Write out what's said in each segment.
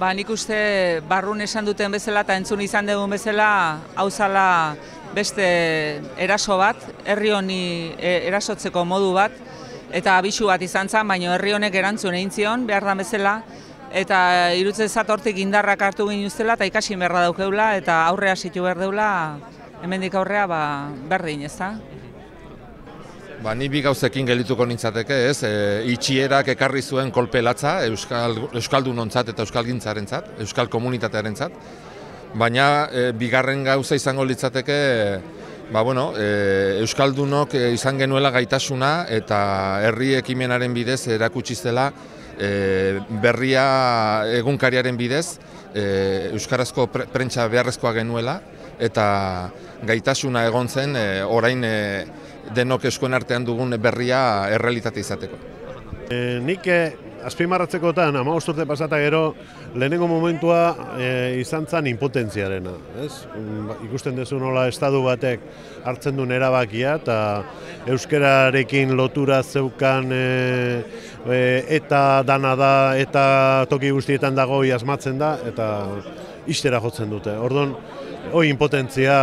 Nik uste barrun esan duten bezala eta entzun izan dugun bezala, hau zala beste eraso bat, herri honi erasotzeko modu bat, eta abisu bat izan zen, baina herri honek erantzun egin zion, behar da bezala, eta irutzen zat hortik indarrak hartu ginuztela, eta ikasi berra daukeula, eta aurrea situ behar deula, hemendik aurrea berdin, ez da? Ni bi gauzekin gelituko nintzateke, ez? Itxierak ekarri zuen kolpe latza euskaldunontzat eta euskalgintzarentzat, euskal komunitatearentzat. Baina bigarren gauza izango litzateke, euskaldunok izan genuela gaitasuna eta herri ekimenaren bidez erakutsi zela berria egunkariaren bidez euskarazko prentsa beharrezkoa genuela eta gaitasuna egon zen orain denok eskuen artean dugun berria errealitate izateko. Nik azpimarratzekotan, 15 urte pasata gero, lehenengo momentua izan zen impotentziarena. Ikusten duzu nola estadu batek hartzen duen erabakia eta euskararekin lotura zeukan eta dana da eta toki guztietan dago asmatzen da eta ixtera jotzen dute. Orduan, impotentzia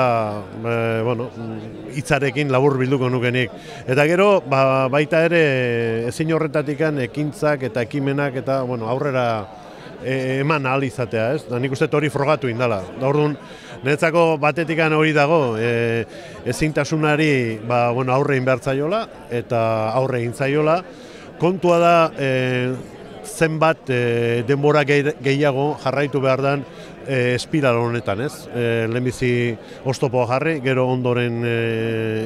hitzarekin labur bilduko nukenik. Eta gero, baita ere, ezin horretatikan ekintzak eta ekimenak eta aurrera eman ahal izatea, ez? Nik uste hori frogatu indala. Orduan, niretzako batetikan hori dago, ezintasunari aurre inbertzaiola eta aurre intzaiola. Kontua da, zenbat denbora gehiago jarraitu behar den espiral honetan, ez? Lehenbizi oztopoa jarri, gero ondoren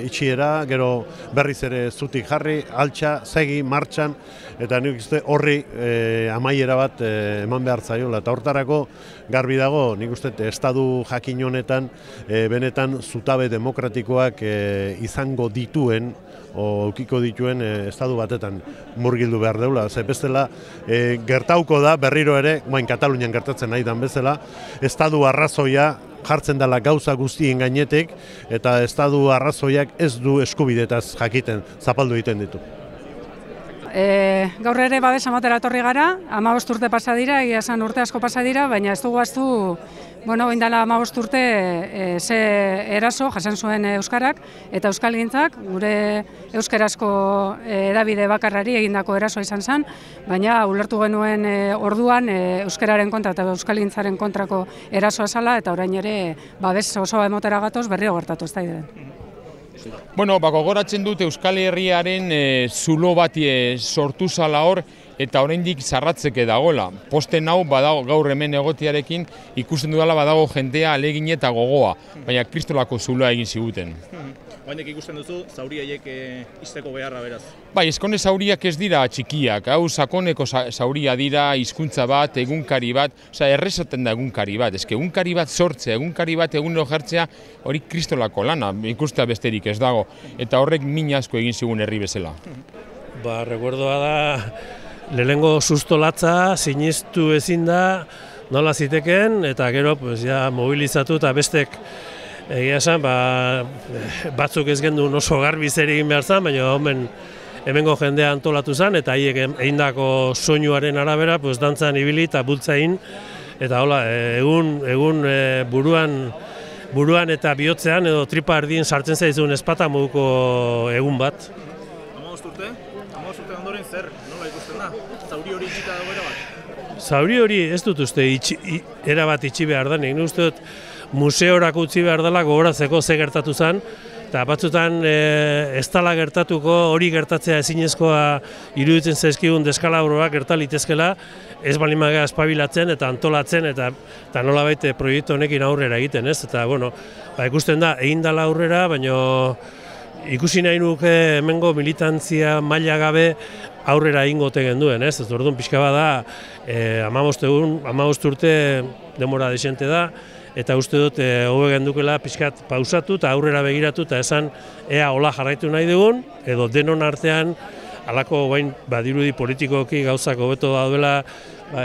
itxiera, gero berriz ere zutik jarri, altxa, segi, martxan, eta nik uste horri amaiera bat eman behar zaiola. Eta hortarako garbi dago, nik uste estadu jakin honetan benetan zutabe demokratikoak izango dituen, ukiko dituen estadu batetan murgildu behar deula. Bestela, gertauko da, berriro ere, Katalunian gertatzen nahi dan bezala, estadu arrazoia jartzen dela gauza guztien gainetik, eta estadu arrazoiak ez du eskubidetaz jakiten, zapaldu egiten ditu. Gaur ere babes ematera etorri gara, 15 urte pasa dira, egia esan urte asko pasa dira, baina ez dugu ahaztu, oindala 15 urte ze eraso jasan zuen euskarak eta euskalgintzak, gure euskarazko hedabide bakarrari egindako erasoa izan zen, baina ulertu genuen orduan euskararen kontra eta euskalgintzaren kontrako erasoa zala, eta orain ere babes osoa emotera gatoz berriro gertatu ez da ideen. Gogoratzen dut Euskal Herriaren zulo bati sortu zala hor eta oraindik zarratzeke dagoela. Posten hau badago gaur hemen egotearekin ikusten dudala badago jendea alegin eta gogoa, baina kristolako zuloa egin ziguten. Oraindik ikusten duzu zauri haiek ixteko beharra beraz. Eskone zauriak ez dira txikiak, hau sakoneko zauria dira, hizkuntza bat, egunkari bat, errezaten da egunkari bat, egunkari bat sortzea, egunkari bat egunero jartzea, hori kristolako lana, ikustea besterik ez dago, eta horrek min asko egin zigun herri bezala. Recuerdoa da, lehenengo sustolatza, sinistu ezin da, nola ziteken, eta gero mobilizatu eta bestek egia esan, batzuk ez gendun oso garbi zer egin behar zen, baina hemengo jendea antolatu zen, eta haiek egindako soinuaren arabera, dantzan ibili eta bultzain, eta hola, egun buruan eta bihotzean edo tripa erdien sartzen zaizun ezpata moduko egun bat. 15 urte? 15 urte ondoren zer? Nola ikusten da? Zauri hori itxita dago erabat? Zauri hori ez dut uste erabat itxi behar denik, uste dut museorako utzi behar dela gogoratzeko ze gertatu zen, eta batzutan ez dela gertatuko hori gertatzea ezinezkoa iruditzen zaizkigun deskalabroak gerta litezkela, ez balimagea espabilatzen eta antolatzen eta nolabait proiektu honekin aurrera egiten, ez? Eta, ikusten da, egin dela aurrera, baina ikusi nahi nuke hemengo militantzia maila gabe aurrera egingo ote genduen, ez? Orduan pixka bada, 15 urte denbora desente da, eta uste dut hobe gendukela pixkat pausatu eta aurrera begiratu eta esan ea hola jarraitu nahi dugun, edo denon artean halako badirudi politikoki gauzak hobeto daudela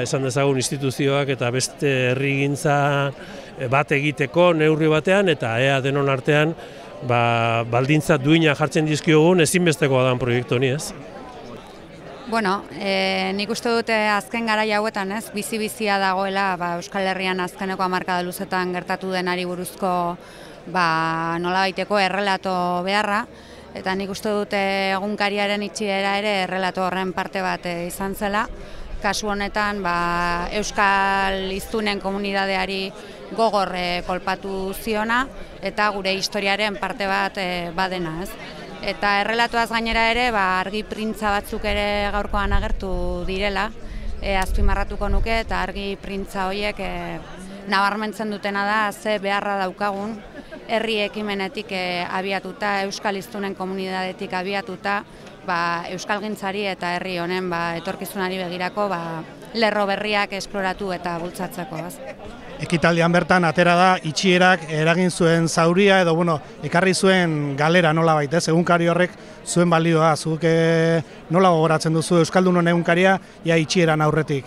esan dezagun instituzioak eta beste herrigintza bat egiteko neurri batean, eta ea denon artean baldintza duina jartzen dizkiogun ezinbestekoa dan proiektu honi, ez? Bueno, nik uste dute azken garai hauetan, bizi-bizia dagoela Euskal Herrian azkeneko hamarkada luzetan gertatu denari buruzko nolabaiteko errelato beharra, eta nik uste dute egunkariaren itxiera ere errelato horren parte bat izan zela. Kasu honetan Euskal hiztunen komunidadeari gogor kolpatu ziona eta gure historiaren parte bat badena, ez? Eta errelatuaz gainera ere argi printza batzuk ere gaurkoan agertu direla, azpimarratuko nuke, eta argi printza horiek nabarmentzen dutena da ze beharra daukagun herri ekimenetik abiatuta, Euskal hiztunen komunidadetik abiatuta, euskalgintzari eta herri honen etorkizunari begirako lerro berriak esploratu eta bultzatzeko. Ekitaldian bertan atera da itxierak eragin zuen zauria edo ekarri zuen galera nolabait, egunkari horrek zuen balioa, zuk nola gogoratzen duzu Euskaldunon egunkaria itxieran aurretik?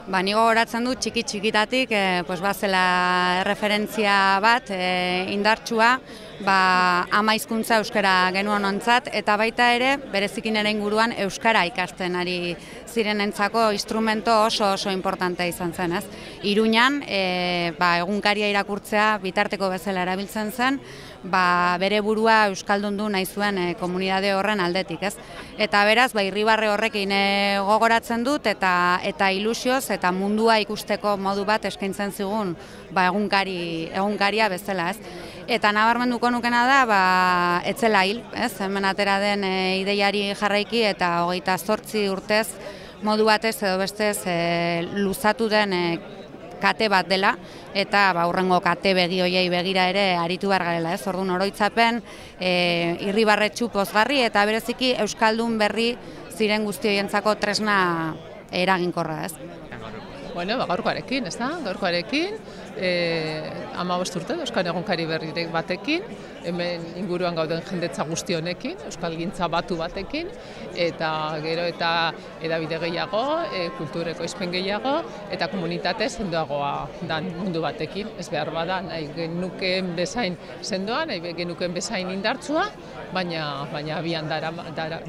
Ni gogoratzen dut txiki-txikitatik bazela referentzia bat indartsua, ama hizkuntza euskara genuen ontzat, eta baita ere berezikin ere inguruan euskara ikasten ari zirenentzako instrumento oso importante izan zen, ez? Iruñan egunkaria irakurtzea bitarteko bezala erabiltzen zen, bere burua euskaldundu nahi zuen komunidade horren aldetik, ez? Eta beraz, irribarre horrekin gogoratzen dut eta ilusioz eta mundua ikusteko modu bat eskaintzen zigun egunkaria bezala, ez? Eta nabarmenduko nukena da, etzela hil, ez? Hemen atera den ideiari jarraiki eta 28 urtez modu batez edo bestez luzatu den kate bat dela, eta hurrengo kate begi hoiei begira ere aritu behar garela, ez? Orduan oroitzapen irribarretsu pozgarri eta bereziki euskaldun berri ziren guztioientzako tresna eraginkorra, ez? Gaurkoarekin, ez da? Gaurkoarekin, 15 urte Euskal egunkari berri batekin, hemen inguruan gauden jendetza guzti honekin, euskalgintza batu batekin, eta gero eta edabide gehiago, kultureko izpen gehiago, eta komunitate sendoagoa dan mundu batekin, ez behar bada, nahi genukeen bezain sendoa, nahi genukeen bezain indartsua, baina abian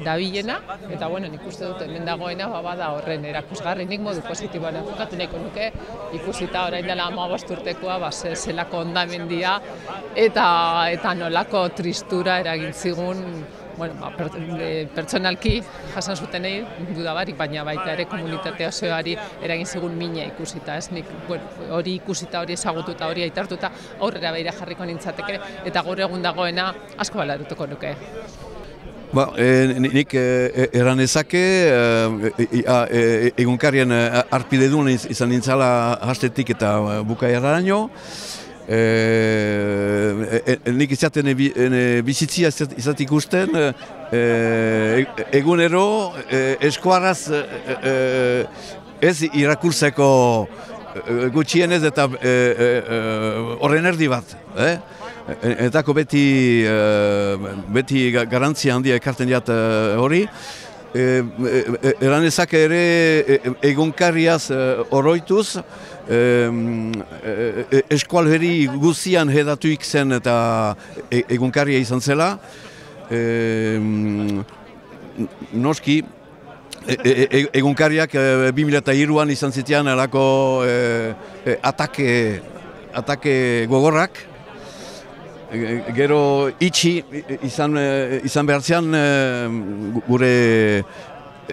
dabilena, eta nik uste dut hemen dagoena bada horren erakusgarri, nik modu positiboan enfokatu nahiko nuke, ikusita orain dela 15 urtekoa zelako ondamendia eta nolako tristura eragin zigun pertsonalki jasan zutenei dudabarik, baina baita ere komunitate osoari eragin zigun mina ikusita, ez? Nik hori ikusita, hori ezagututa, hori aitartuta aurrera begira jarriko nintzateke eta gaur egun dagoena asko balarutuko nuke. Nik eran ezake egunkarien arpide duen izan nintzala hastetik eta bukaeraraino. Nik izaten bizitzia izat ikusten, egunero eskuarraz ez irakurtzeko gutxienez eta horren erdi bat. Etako beti garantzia handia ekarten diat hori. Eran ezak ere egunkariaz oroituz, eskualheri guzian hedatuik zen eta egunkaria izan zela. Noski, egunkariak 2003an izan zitean alako atake gogorrak. Gero itxi izan behar zean gure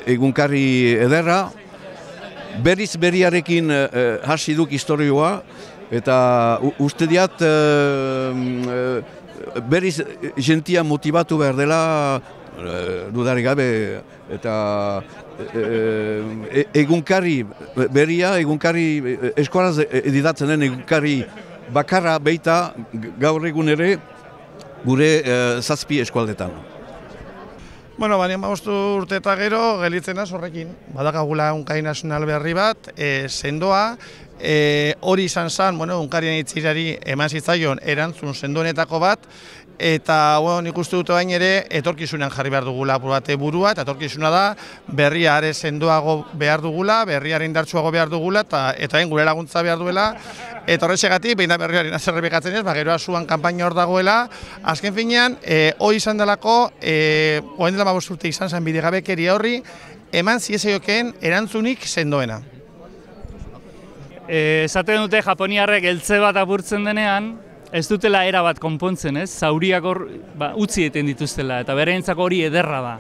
egunkari ederra. Berriz berriarekin hasi duk historioa eta uste diat berriz jentia motivatu behar dela dudarik gabe eta egunkari berria, egunkari eskuaraz edidatzen den egunkari bakarra beita gaur egun ere gure 7 eskualdetan. Baina 15 urte eta gero gelitzen az horrekin. Badakagula egunkari nazional berri bat, sendoa, hori izan zen, egunkarien itzirari eman zitzaion erantzun sendoenetako bat, eta nik uste dut bain ere etorkizunean jarri behar dugula bate burua, eta etorkizuna da berria are sendoago behar dugula, berriaren indartsuago behar dugula, eta gure laguntza behar duela, eta horretxegatik, behin da berriaren azerrepikatzen ez, gero asuan kanpaina hor dagoela, azken finean, hori izan delako, oen dela 15 urte izan zen bidegabekeria horri, eman ziezaiokeen erantzunik sendoena. Esaten dute japoniarrek eltze bat apurtzen denean, ez dutela era bat konpontzen, ez? Zauriak hor utzi egiten dituztela, eta bereentzako hori ederra da.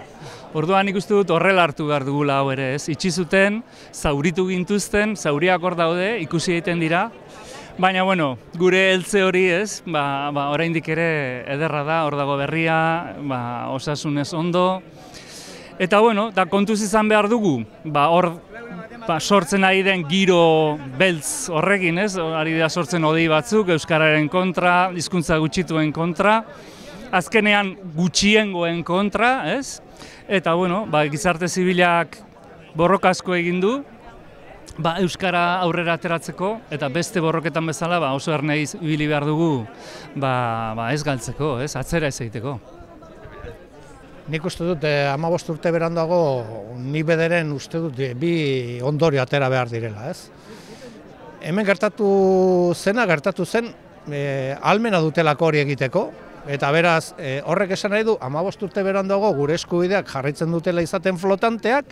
Orduan ikusten dut horrela hartu behar dugula hau ere, ez? Itxi zuten, zauritu gintuzten, zauriak hor daude, ikusi egiten dira, baina, bueno, gure eltze hori, ez? Oraindik ere ederra da, hor dago berria, osasunez ondo, eta, bueno, da kontuz izan behar dugu, hor sortzen ari den giro beltz horrekin, ez? Ari da sortzen hodei batzuk, euskararen kontra, hizkuntza gutxituen kontra, azkenean gutxiengoen kontra, ez? Eta, bueno, gizarte zibilak borroka asko egin du, euskara aurrera ateratzeko, eta beste borroketan bezala oso ernei ibili behar dugu ez galtzeko, ez? Atzera ez egiteko. Nik uste dut 15 urte beranduago ni bederen uste dut bi ondorio atera behar direla, ez? Hemen gertatu zen ahalmena dutelako hori egiteko, eta beraz horrek esan nahi du 15 urte beranduago gure eskubideak jarraitzen dutela izaten flotanteak,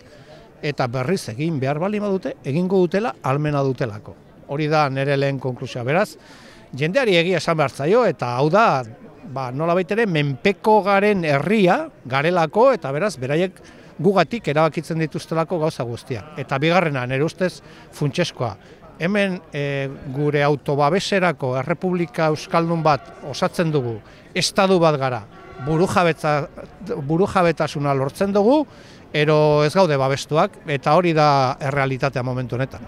eta berriz egin behar baldin badute, egingo dutela ahalmena dutelako. Hori da nire lehen konklusioa. Beraz, jendeari egia esan behar zaio, eta hau da, nolabait ere, menpeko garen herria garelako, eta beraz, beraiek gugatik erabakitzen dituztelako gauza guztiak. Eta bigarrena, nire ustez, funtseskoa. Hemen gure autobabeserako errepublika euskaldun bat osatzen dugu, estadu bat gara, burujabetasuna lortzen dugu, ero ez gaude babestuak, eta hori da errealitatea momentu honetan.